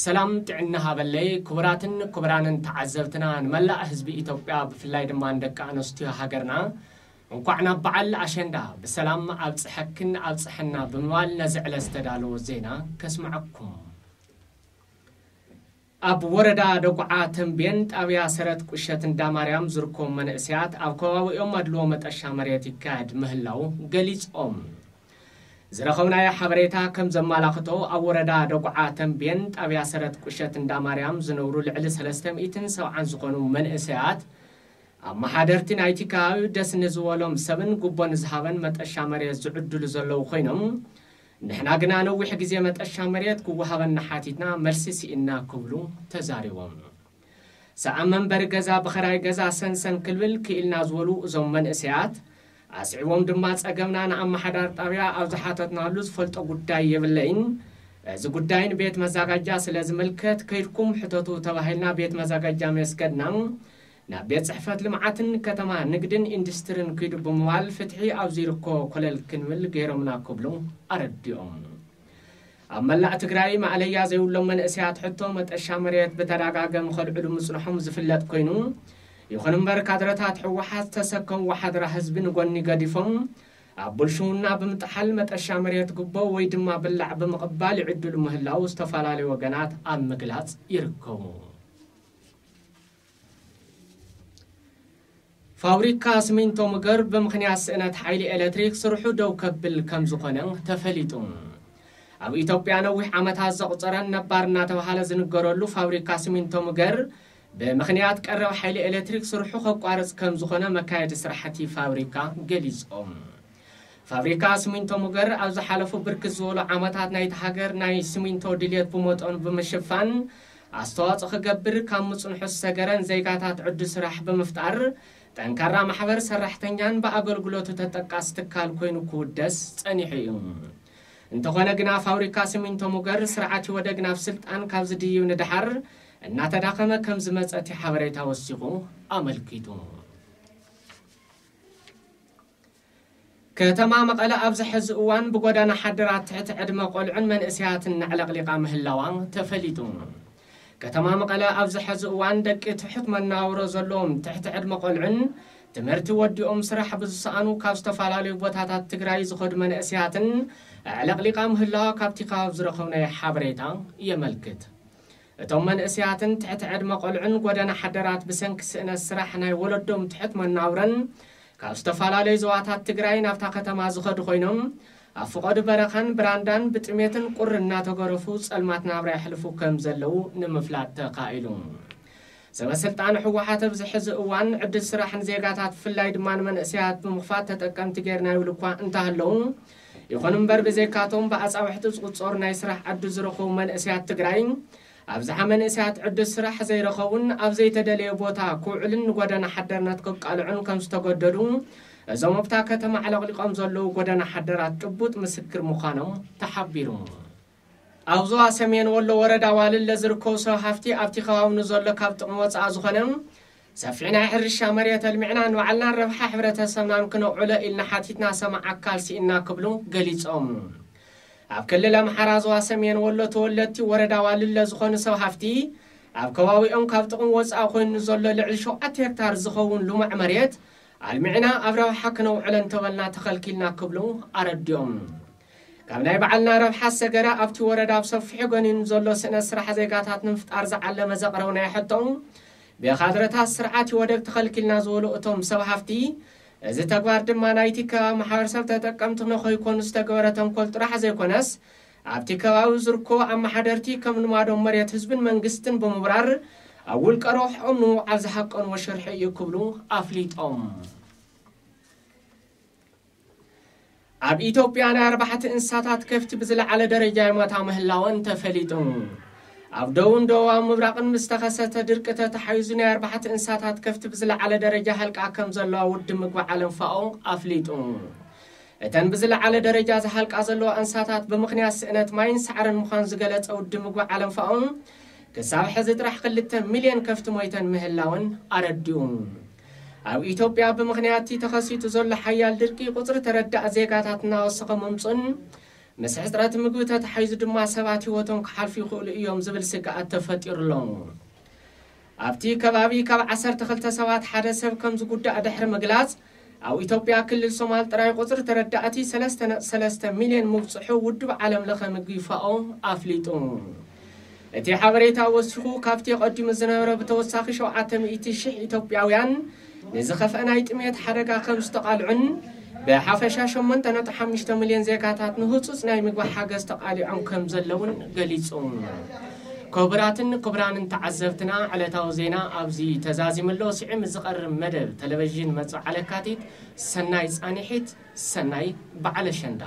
ሰላም ጥዕና ሃበለይ ክቡራትን ክቡራንን ተዓዘብትና፣ ንመላእ ህዝቢ ኢትዮጵያ፣ ብፍላይ ድማ ንደቂ ኣንስትዮ ሃገርና፣ እንኳዕ ናብ በዓል ኣሸንዳ ብሰላም ኣብጽሐክን ኣብጽሐና ብምባል ነዚ ዕለት ዝተዳለወ ዜና ከስምዐኩም። ኣብ ወረዳ ደጉዓ ተንቤን ጣብያ ሰረት ቁሸት እንዳማርያም ዝርከቡ መንእሰያት ኣብ ከባቢኦም ኣድልዎ መጠሻ መሬት ይካየድ ምህላው ገሊጾም። ዝረኸብናዮ ሓበሬታ ከም ዘመላኽቶ፣ ኣብ ወረዳ ደጉዓ ተንቤን ጣብያ ሰረት ቁሸት እንዳማርያም ዝነብሩ ልዕሊ ሰለስተ ሚእትን ሰብዓን ዝኾኑ መንእሰያት፣ ኣመሓደርቲ ናይቲ ከባቢ ደስ ንዝበሎም ሰብን ጉቦ ንዝሃበን መጠሻ መሬት ዝዕድሉ ዘለዉ ኮይኖም፣ ንሕና ግና ነዊሕ ግዜ መጠሻ መሬት ክወሃበና ሓቲትና፣ መልሲ ስኢንና ክብሉ ተዛሪቦም። ሰኣን መንበሪ ገዛ ብኸራይ ገዛ ሰንሰን ክልብል ክኢልና ዝበሉ እዞም መንእሰያት፣ ኣስዒቦም ድማ ጸገምና ንኣመሓዳሪ ጣብያ ኣብ ዝሓተትናሉ ዝፈልጦ ጉዳይ የብለይን፣ እዚ ጉዳይ ንቤት መዛጋጃ ስለ ዝምልከት ከይድኩም ሕተቱ ተባሂልና ቤት መዛጋጃ ምስ ከድና፣ ናብ ቤት ጽሕፈት ልምዓትን ከተማ ንግድን ኢንዱስትርን ኪዱ ብምባል ፍትሒ ኣብ ዝርከቦ ኮለል ክንብል ገይሮምና ክብሉ ኣረዲኦም። ኣብ መላእ ትግራይ ማእለያ ዘይብሎም መንእሰያት ሕቶ መጠሻ መሬት ብተደጋጋሚ ከልዕሉ ምጽንሖም ዝፍለጥ ኮይኑ፣ ይኹን እምበር ካድረታት ህወሓት ዝተሰከምዎ ሓደራ ህዝቢ ንጎኒ ገዲፎም ኣብ ብልሽውና ብምጥሓል መጠሻ መሬት ጉቦ ወይ ድማ ብላዕ ብምቕባል ይዕድሉ ምህላው ዝተፈላለዩ ወገናት ኣብ ምግላጽ ይርከቡ። ፋብሪካ ስሚንቶ ሙገር ብምኽንያት ስእነት ሓይሊ ኤሌክትሪክ ስርሑ ደው ከብል ከም ዝኾነ ተፈሊጡ። ኣብ ኢትዮጵያ ነዊሕ ዓመታት ዘቑጸረን ነባር እናተባሃለ ዝንገረሉ ፋብሪካ ስሚንቶ ሙገር ብምኽንያት ቀረብ ሓይሊ ኤሌክትሪክ ስርሑ ከቋርጽ ከም ዝኾነ መካየዲ ስራሕቲ ፋብሪካ ገሊጾም። ፋብሪካ ስሚንቶ ሙገር ኣብ ዝሓለፉ ብርክት ዝበሉ ዓመታት ናይቲ ሃገር ናይ ስሚንቶ ድልየት ብመጠኑ ብምሽፋን ኣስተዋጽኦ ክገብር ካብ ምጽንሑ ዝሰገረን ዜጋታት ዕድል ስራሕ ብምፍጣር ጠንካራ ማሕበር ሰራሕተኛን ብኣገልግሎቱ ተጠቃሲ ትካል ኮይኑ ክውደስ ጸኒሑ እዩ። እንተኾነ ግና ፋብሪካ ስሚንቶ ሙገር ስርዓት ኢህወደግ ናብ ስልጣን ካብ ዝድይብ ንደሓር እናተዳኸመ ከም ዝመጸ እቲ ሓበሬታ ወሲኹ ኣመልኪቱ። ከተማ መቐለ ኣብዚ ሕዚ እዋን ብጎደና ሓደራት ትሕቲ ዕድመ ቆልዑን መንእሰያትን ኣዕለቕሊቓ ምህላዋ ተፈሊጡ። ከተማ መቐለ ኣብዚ ሕዚ እዋን ደቂ ትሑት መናውሮ ዘለዎም ትሕቲ ዕድመ ቆልዑን ትምህርቲ ወዲኦም ስራሕ ብዝሰኣኑ ካብ ዝተፈላለዩ ቦታታት ትግራይ ዝኸዱ መንእሰያትን ኣዕለቕሊቓ ምህላዋ ካብቲ ከባቢ ዝረኸብናዮ ሓበሬታ የመልክት። እቶም መንእሰያትን ትሕቲ ዕድመ ቆልዑን ጎደና ሓደራት ብሰንኪ ስእነት ስራሕ ናይ ወለዶም ትሑት መናውረን ካብ ዝተፈላለዩ ዞባታት ትግራይ ናብታ ከተማ ዝኸዱ ኮይኖም፣ ኣብ ፍቐዱ በረኻን ብራንዳን ብጥሜትን ቁሪ እናተገረፉ ጸልማት ናብራ የሕልፉ ከም ዘለዉ ንምፍላጥ ተኻኢሉ። ሰበ ስልጣን ህወሓት ኣብዚ ሕዚ እዋን ዕድል ስራሕ ንዜጋታት ብፍላይ ድማ ንመንእሰያት ብምኽፋት ተጠቀምቲ ገይርና ይብሉ እኳ እንተሃለዉ፣ ይኹን እምበር ብዘይካቶም ብኣጻብዕቲ ዝቑጸሩ ናይ ስራሕ ዕድል ዝረኸቡ መንእሰያት ትግራይ ኣብዝሓ መንእሰያት ዕድል ስራሕ ዘይረኸቡን ኣብ ዘይተደለየ ቦታ ክውዕልን ንጎደና ሓደርነት ክቃልዑን ከም ዝተገደዱ እዞም ኣብታ ከተማ ኣዕለቕሊቖም ዘለዉ ጎደና ሓደራት ጭቡጥ ምስክር ምዃኖም ተሓቢሩ። ኣብ ዞባ ሰሜን ወሎ ወረዳ ዋልለ ዝርከቡ ሰብ ሃፍቲ ኣብቲ ከባቢ ንዘሎ ካብ ጥቕሚ ወፃኢ ዝኾነ ሰፊሕ ናይ ሕርሻ መሬት ኣልሚዕና ንባዕልናን ረብሓ ሕብረተሰብናን ክነውዕሎ ኢልና ሓቲትና ሰማዕ ኣካል ስኢንና ክብሉ ገሊፆም። ኣብ ክልል ኣምሓራ ዞባ ሰሜን ወሎ ተወለድቲ ወረዳ ዋልለ ዝኾኑ ሰብ ሃፍቲ ኣብ ከባቢኦም ካብ ጥቕሚ ወፃኢ ኮይኑ ንዘሎ ልዕሊ ሸውዓተ ሄክታር ዝኸውን ልሙዕ መሬት ኣልሚዕና ኣብ ረብሓ ክነውዕሎ እንተበልና ተኸልኪልና ክብሉ ኣረዲኦም። ካብ ናይ ባዕልና ረብሓ ሰገረ ኣብቲ ወረዳ ብሰፊሑ ገኒኑ ዘሎ ስእነት ስራሕ ዜጋታት ንምፍጣር ዝዓለመ ዘቕረብናዮ ሕቶ ብካድረታት ስርዓት ኢህወደግ ተኸልኪልና ዝበሉ እቶም ሰብ ሃፍቲ፣ እዚ ተግባር ድማ ናይቲ ከባቢ ማሕበረሰብ ተጠቀምቲ ንኸይኮኑ ዝተገበረ ተንኮል ጥራሕ ዘይኮነስ ኣብቲ ከባቢ ዝርከቡ ኣመሓደርቲ ከም ልማዶም መሬት ህዝብን መንግስትን ብምብራር ኣብ ውልቀ ረብሕኦም ንምውዓል ዝሃቀንዎ ሽርሒ እዩ ክብሉ ኣፍሊጦም። ኣብ ኢትዮጵያ ናይ ኣርባሕቲ እንስሳታት ከፍቲ ብዝለዓለ ደረጃ ይሞታ ምህላወን ተፈሊጡ። ኣብ ደቡብን ደቡባዊ ምብራቕን ምስ ተኸሰተ ድርቂ ተተሓይዙ ናይ ኣርባሕቲ እንስሳታት ከፍቲ ብዝለዓለ ደረጃ ሃልቃ ከም ዘለዋ ውድብ ምግቢ ዓለም ፋኦ ኣፍሊጡ። እተን ብዝለዓለ ደረጃ ዝሃልቃ ዘለዋ እንስሳታት ብምኽንያት ስእነት ማይን ሳዕርን ምዃን ዝገለጸ ውድብ ምግቢ ዓለም ፋኦ ክሳብ ሕዚ ጥራሕ ክልተ ሚልዮን ከፍቲ ሞይተን ምህላወን ኣረዲኡ። ኣብ ኢትዮጵያ ብምኽንያት እቲ ተኸሲቱ ዘሎ ሓያል ድርቂ ቁፅሪ ተረዳእ ዜጋታት እናወሰኸ ምምፁን ምስ ሕፅረት ምግቢ ተተሓይዙ ድማ ሰባት ህይወቶም ክሓልፉ ይኽእሉ እዮም ዝብል ስግኣት ተፈጢሩ ኣሎ። ኣብቲ ከባቢ ካብ ዓሰርተ ክልተ ሰባት ሓደ ሰብ ከም ዝጉዳእ ድሕሪ ምግላፅ ኣብ ኢትዮጵያ ክልል ሶማል ጥራይ ቁፅሪ ተረዳእቲ ሰለስተ ነጥቢ ሰለስተ ሚልዮን ምብፅሑ ውድብ ዓለም ለኸ ምግቢ ፋኦ ኣፍሊጡ። እቲ ሓበሬታ ወሲኹ ካብቲ ቀዲሙ ዝነበረ ብተወሳኺ ሸውዓተ ሚእቲ ሺሕ ኢትዮጵያውያን ንዝኸፍአ ናይ ጥሜት ሓደጋ ከም ዝተቓልዑን ብሓፈሻ ሸሞንተ ነጥቢ ሓሙሽተ ሚልዮን ዜጋታት ንህፁፅ ናይ ምግቢ ሓገዝ ተቓሊዖም ከም ዘለውን ገሊጹ። ክቡራትን ክቡራንን ተዓዘብትና ዕለታዊ ዜና ኣብዚ ተዛዚሙ ኣሎ። ስዒም ዝቐርብ መደብ ቴሌቪዥን መጽዓ ለካቲት። ሰናይ ጻንሒት፣ ሰናይ በዓለ ሸንዳ።